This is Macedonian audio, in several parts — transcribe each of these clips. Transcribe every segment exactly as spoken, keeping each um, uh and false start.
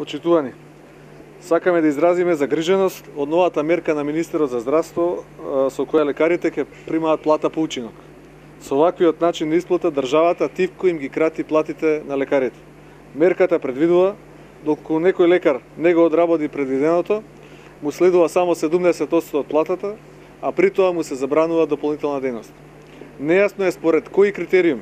Почитувани, сакаме да изразиме загриженост од новата мерка на Министерот за здравство со која лекарите ќе примаат плата по учинок. Со ваквиот начин на исплата државата тивко им ги крати платите на лекарите. Мерката предвидува доколку некој лекар не го одработи предвиденото, му следува само седумдесет одсто од платата, а при тоа му се забранува дополнителна дејност. Нејасно е според кои критериуми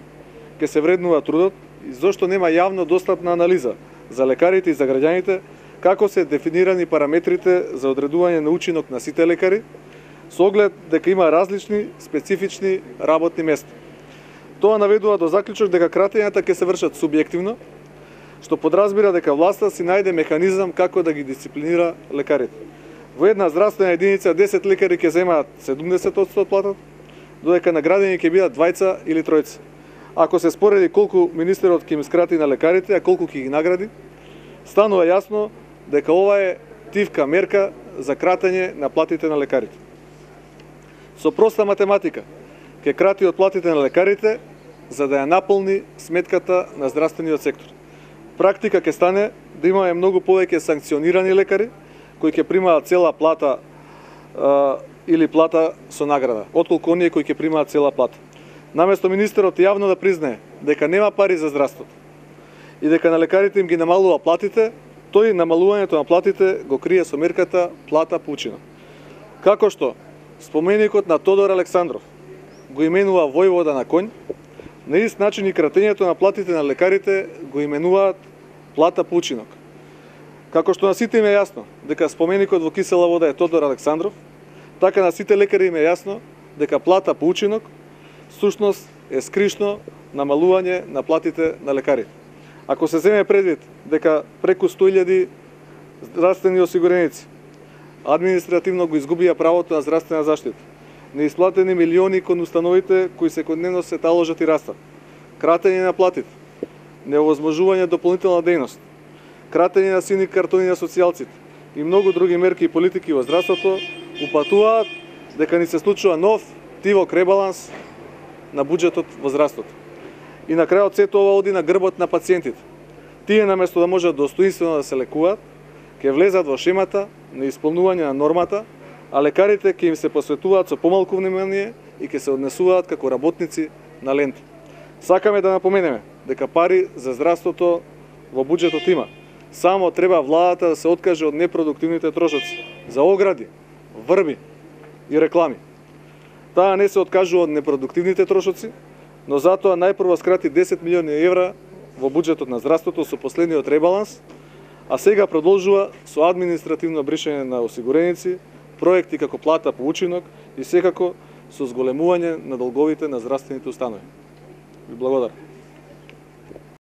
ќе се вреднува трудот и зошто нема јавно достапна анализа за лекарите и за граѓаните како се дефинирани параметрите за одредување на учинок на сите лекари, со оглед дека има различни специфични работни места. Тоа наведува до заклучок дека кратењата ќе се вршат субјективно, што подразбира дека власта си најде механизам како да ги дисциплинира лекарите. Во една здравствена единица десет лекари ќе земаат седумдесет одсто од платата, додека наградени ќе бидат двајца или тројца. Ако се спореди колку министерот ќе им скрати на лекарите, а колку ќе ги награди, станува јасно дека ова е тивка мерка за кратење на платите на лекарите. Со проста математика ќе крати од платите на лекарите за да ја наполни сметката на здравствениот сектор. Практика ќе стане да имаме многу повеќе санкционирани лекари кои ќе примаат цела плата а, или плата со награда, отколку оние кои ќе примаат цела плата. Наместо министерот јавно да признае дека нема пари за здравството и дека на лекарите им ги намалува платите, тој намалувањето на платите го крие со мерката плата по учинок. Како што споменикот на Тодор Александров го именува војвода на конј, на ист начин и кратењето на платите на лекарите го именуваат плата по учинок. Како што на сите им е јасно дека споменикот во кисела вода е Тодор Александров, така на сите лекари им е јасно дека плата по учинок сушност е скришно намалување на платите на лекарите. Ако се земе предвид дека преку сто илјади здравствени осигуреници административно го изгубија правото на здравствена заштита, неисплатени милиони кон установите кои секојдневно се таложат и растат, кратење на платите, неовозможување дополнителна дејност, кратење на сини картони на социјалците и многу други мерки и политики во здравството упатуваат дека ни се случува нов тивок ребаланс на буџетот во здравството. И на крајот сето ова оди на грбот на пациентите. Тие наместо да можат достоинствено да се лекуваат, ќе влезат во шемата на исполнување на нормата, а лекарите ќе им се посветуваат со помалку внимание и ќе се однесуваат како работници на лента. Сакаме да напоменеме дека пари за здравството во буџетот има. Само треба владата да се откаже од непродуктивните трошоци за огради, врби и реклами. Таа не се откажува од непродуктивните трошоци, но затоа најпрво скрати десет милиони евра во буџетот на здравството со последниот ребаланс, а сега продолжува со административно бришање на осигуреници, проекти како плата по учинок и секако со зголемување на долговите на здравствените установи. Ви благодарам.